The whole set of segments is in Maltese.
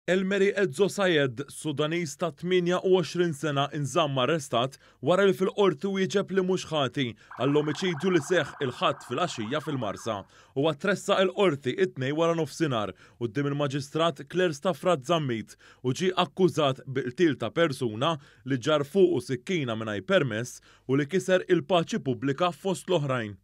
Elmeri Ezzo Sayed, Sudaniż ta' 28 sena inżamm arrestat wara li fil-Qorti wieġeb li mhux ħati għall-omiċidju li seħħ il-Ħadd filgħaxija fil-Marsa. Huwa tressaq il-Qorti it-Tnejn waranofsinhar quddiem il-Maġistrat Claire Stafrat Zammit u ġie akkużat bi qtil ta' persuna li ġarr fuqu sikkina mingħajr permess u li kiser il-paċi pubblika fost l-oħrajn.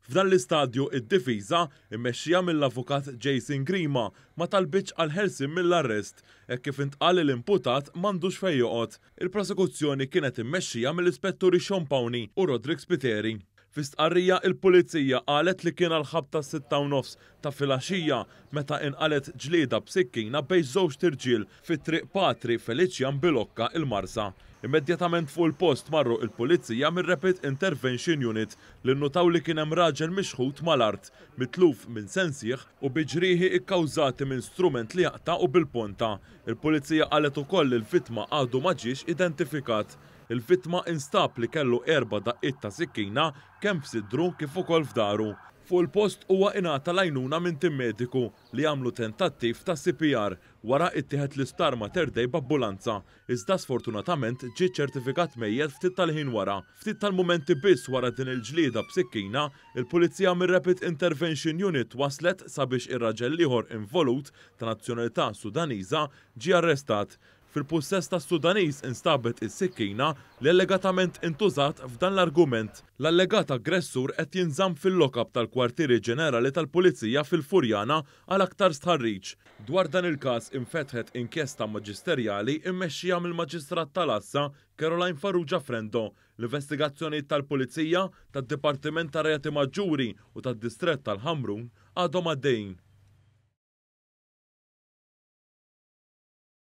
F'dan l-istadju id-difiża, immexxija mill-Avukat Jason Grima, ma talbitx għall-ħelsien mill-arrest, hekk kif intqal li l-imputat m'għandux fejn joqgħod. Il-prosekuzzjoni kienet immexxija mill-Ispetturi Sean Pawney u Roderick Spiteri. Fi stqarrija, il-Pulizija qalet li kien għall-ħabta s-sitta u nofs ta' filgħaxija meta inqalgħet ġlieda b'sikkina bejn żewġt irġiel fi Triq Patri Felician Bilocca, il-Marsa. Immedjatament fuq il-post marru il-Pulizija mir-Rapid Intervention Unit li nnutaw li kien hemm raġel mixħut mal-art, mitluf minn sensih u bi ġrieħi kkawżati minn strument li jaqta' u bil-ponta. Il-Pulizija qalet ukoll li l-vittma għadu ma ġiex identifikat. Il-vittma instab li kellu erba' daqqiet ta' sikkina kemm f'sidru kif ukoll f'dahru. Fuq il-post huwa ingħata l-għajnuna minn tim mediku li għamlu tentattiv ta' CPR. Wara ittieħed l-Isptar Mater Dei b'ambulanza, iżda sfortunatament ġie ċċertifikat mejjet ftit tal-ħin wara. Ftit tal-mumenti biss wara din il-ġlieda b'sikkina, il-Pulizija mir-Rapid Intervention Unit waslet sabiex ir-raġel l-ieħor involut ta' nazzjonalità Sudaniża ġie arrestat. Fil-pussess tas-Sudaniż instabet is-sikkina li allegatament intużat f'dan l-argument. L-allegat aggressur qed jinżamm fil-lock-up tal-Kwartieri Ġenerali tal-Pulizija fil-Furjana għal aktar stħarriġ. Dwar dan il-każ infetħet inkjesta maġisterjali mmexxija mill-Maġistrat tal-Għassa Caroline Farrugia Frendo. L-investigazzjonijiet tal-Pulizija, tad-Dipartiment tar-Reati Maġġuri u tad-Distrett tal-Ħamrun għadhom għaddejjin.